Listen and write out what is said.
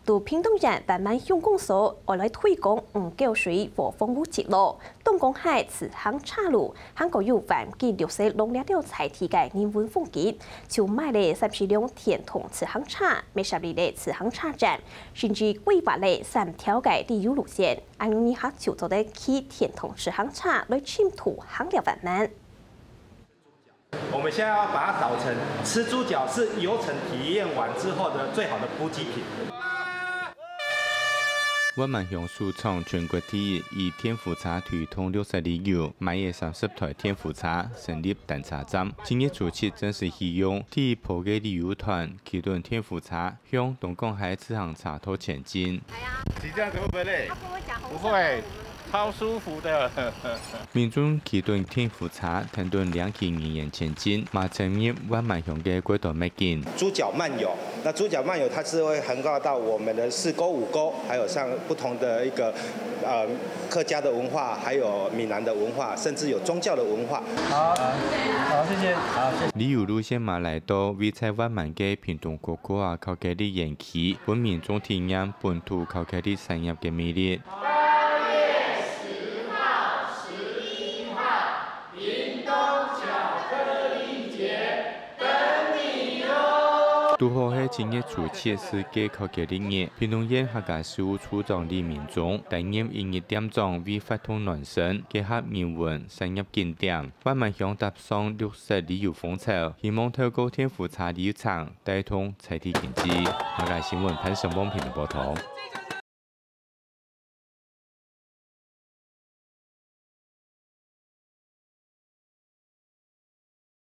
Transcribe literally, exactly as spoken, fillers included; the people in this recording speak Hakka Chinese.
在屏東縣萬巒鄉公所，愛來推廣五溝水和豐富之路，東港溪自行車路，還過有環境綠色農業了在地个人文風景，就買了三十輛電動自行車，買十二个自行車站，甚至規劃了三條个旅遊路線，恁樣你下就做得騎電動自行車來深度行了萬巒。 我们现在要把它导成吃猪脚是游程体验完之后的最好的补给品。萬巒鄉首創全國第一以電扶車推動綠色旅遊，買了三十台電扶車，成立單車站。今日初七正式啟用，第一波个旅遊團騎等電扶車，向東港溪自行車道前進。騎這樣子會不會累？他跟我講紅不會，超舒服的。民眾騎等電扶車，跈等領騎人員前進，嘛進入萬巒鄉个國道秘境。豬腳漫遊。那豬腳漫遊它是会横跨到我们的四沟、五沟，还有像不同的一个呃客家的文化，还有闽南的文化，甚至有宗教的文化。好，好，谢谢，好，谢谢。旅遊路线嘛来到位在万巒个屏东國家考古歷園區，分民众體驗本土考古歷產業个魅力。堵好係今日初七世界考古歷日，屏東縣客家事務處長李明忠擔任一日店長為活動暖身，結合人文產業景點，萬巒鄉搭上綠色旅遊風潮，希望透過電扶車旅程帶動在地經濟。客家新聞潘成旺屏東報導。